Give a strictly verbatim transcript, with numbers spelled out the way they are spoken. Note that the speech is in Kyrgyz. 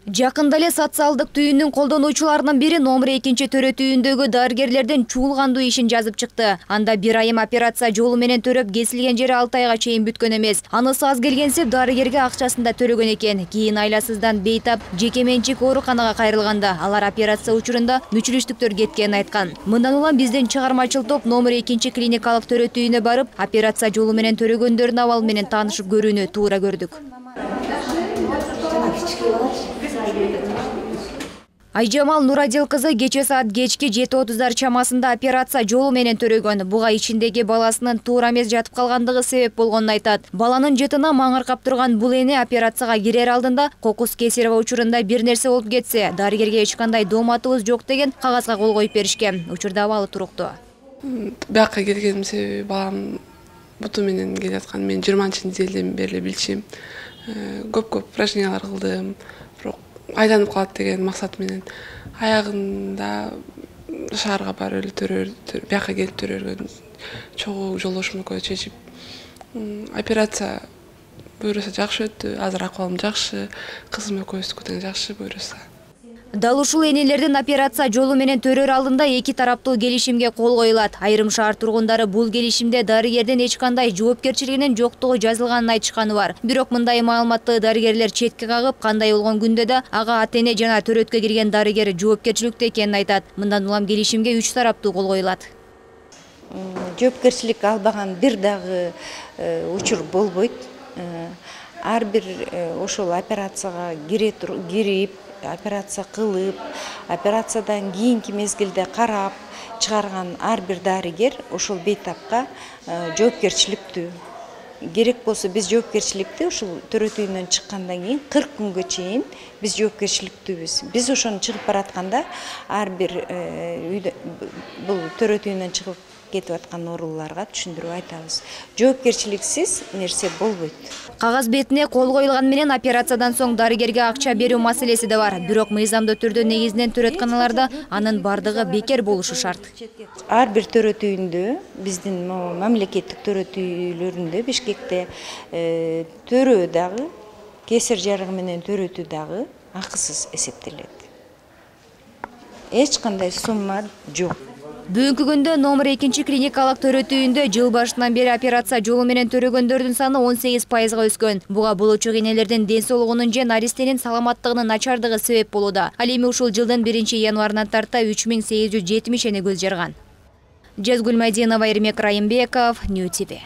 Жакында эле социалдык түйүндүн колдонуучуларынын бири номер экинчи төрө түйүндөгү дарыгерлердин чуулгандуу ишин жазып чыкты. Анда бир айым операция жолу менен төрөп, кесилген жери алты айга чейин бүткөн эмес. Анысы аз келгенсип дарыгерге акчасын да төлөгөн экен. Кийин айласыздан бейтап жеке менчик ооруканага кайрылганда алар операция учурунда мүчүлүштүктөр кеткенин айткан. Мындан улам биздин чыгармачыл топ номер экинчи клиникалык төрө түйүнүнө барып, операция жолу менен төрөгөндөрдүн абалы менен таанышып көрүүнү туура көрдүк. Айжамал Нурадил кызы кече саат кечки жети отуздар чамасында операция жолу менен төрөгөн. Буга ичиндеги баласынын туура эмес жатып калгандыгы себеп болгонун айтат. Баланын жытына маңыркап турган бул эне операцияга кирер алдында кокус кесарево учурунда бир нерсе болуп кетсе, дарыгерге эч кандай дооматыбыз жок деген кагазга кол коюп беришкен. Учурда абалы туруктуу. Бияка келгеним себеби балам буту менен келаткан. Мен жыйырманчы неделден бери билчим. Көп-көп упражнениялар кылдым. Бирок айланып калат деген максат менен аягында шаарга барып эле төрөр, бияка келип төрөргөн чогуу жолдошум экөө чечип операция буюрса жакшы өттү. Азыр акыбалым жакшы, кызым экөөбүздүкү тең жакшы буюрса. Дал ушул энелердин операция жолу менен төрөр алдында эки тараптуу келишимге кол коюлат. Айрым шаар тургундары бул келишимде дарыгердин эч кандай жоопкерчилигинин жоктугу жазылганын айтышканы бар. Бирок мындай маалыматты дарыгерлер четке кагып, кандай болгон күндө да ага ата-эне жана төрөткө кирген дарыгер жоопкерчиликтүү экенин айтат. Мындан улам келишимге үч тараптуу кол коюлат. Жоопкерчилик албаган бир дагы учур болбойт. Ар бир ошол операцияга кирип, операция кылып, операциядан кийинки мезгилде карап чыгарган ар бир дарыгер ошол бейтапка жоопкерчиликтүү. Керек болсо биз жоопкерчиликти ушул төрө түйүнөн чыккандан кийин кырк күнгө чейин биз жоопкерчиликтүүбүз. Биз ошону чыгып баратканда ар бир үйдө бул төрө түйүнөн чыгып кетип аткан ооруларга түшүндүрүп айтабыз. Жоопкерчиликсиз нерсе болбойт. Кагаз бетине кол коюлган менен операциядан соң дарыгерге акча берүү маселеси да бар. Бирок мыйзамдуу түрдө негизинен төрөтканаларда анын бардыгы бекер болушу шарт. Ар бир төрө түйүндө, биздин мамлекеттик төрө түйүлөрүндө Бишкекте төрөө дагы, кесир жарыгы менен төрөтүү дагы акысыз эсептелет. Эч кандай сумма жок. Бүгүнкү күндө номер экинчи клиникалык төрө түйүндө жыл башынан бери операция жолу менен төрөгөндөрдүн саны он сегиз пайызга өскөн. Буга болочу энелердин ден соолугунун же наристенин саламаттыгынын начардыгы себеп болууда. Ал эми ушул жылдын биринчи январынан тарта үч миң сегиз жүз жетимиш эне көз жарган. Жазгүл Майдинова, Эрмек Райымбеков, Нью ти ви.